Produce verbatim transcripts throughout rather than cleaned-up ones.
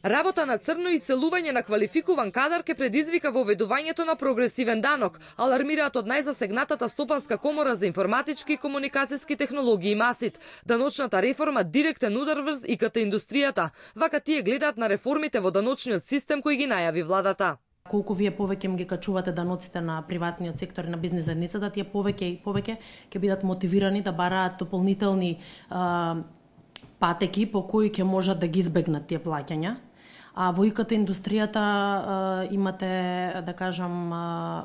Работа на црно и иселување на квалификуван кадар ке предизвика воведувањето на прогресивен данок, алармираат од најзасегнатата стопанска комора за информатички и комуникацијски технологии МАСИТ. Даночната реформа директен удар врз И К Т индустријата. Вака тие гледаат на реформите во даночниот систем кој ги најави владата. Колку вие повеќе им ги качувате даноците на приватниот сектор и на бизнес заедницата, тие повеќе и повеќе ќе бидат мотивирани да бараат дополнителни а, патеки по кои ќе можат да ги избегнат тие плаќања. А во И К Т индустријата а, имате, да кажам, а,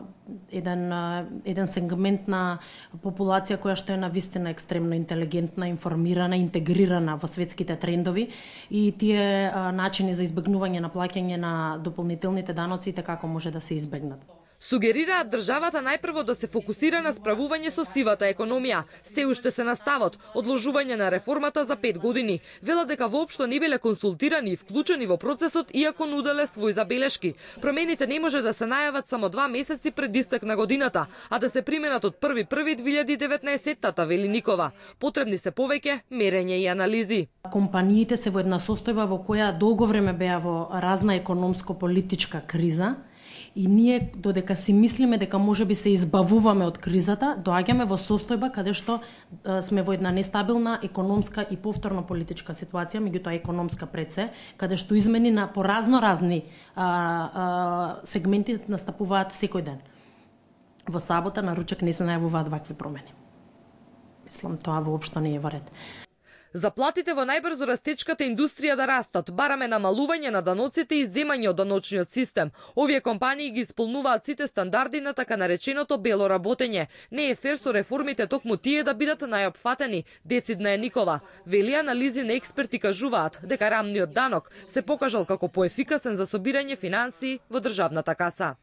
еден, а, еден сегмент на популација која што е навистина екстремно интелигентна, информирана, интегрирана во светските трендови и тие а, начини за избегнување на плаќање на дополнителните даноци како може да се избегнат. Сугерираат државата најпрво да се фокусира на справување со сивата економија. Се уште се на ставот, одложување на реформата за пет години. Велат дека воопшто не биле консултирани и вклучени во процесот, иако нуделе свој забелешки. Промените не може да се најават само два месеци пред истек на годината, а да се применат од први први две илјади и деветнаесетта, вели Никова. Потребни се повеќе мерење и анализи. Компаниите се во една состојба во која долго време беа во разна економско-политичка криза. И ние, додека си мислиме дека може би се избавуваме од кризата, доаѓаме во состојба каде што а, сме во една нестабилна економска и повторно политичка ситуација, меѓутоа економска пред се, каде што измени на по разно разни а, а, сегменти настапуваат секој ден. Во сабота на ручек не се најавуваат вакви промени. Мислам, тоа воопшто не е во ред. Заплатите во најбрзо растечката индустрија да растат, бараме намалување на даноците и земање од даночниот систем. Овие компании ги исполнуваат сите стандарди на така нареченото бело работење. Не е фер со реформите токму тие да бидат најопфатени, децидна е Никова. Вели анализи на експерти кажуваат дека рамниот данок се покажал како поефикасен за собирање финансии во државната каса.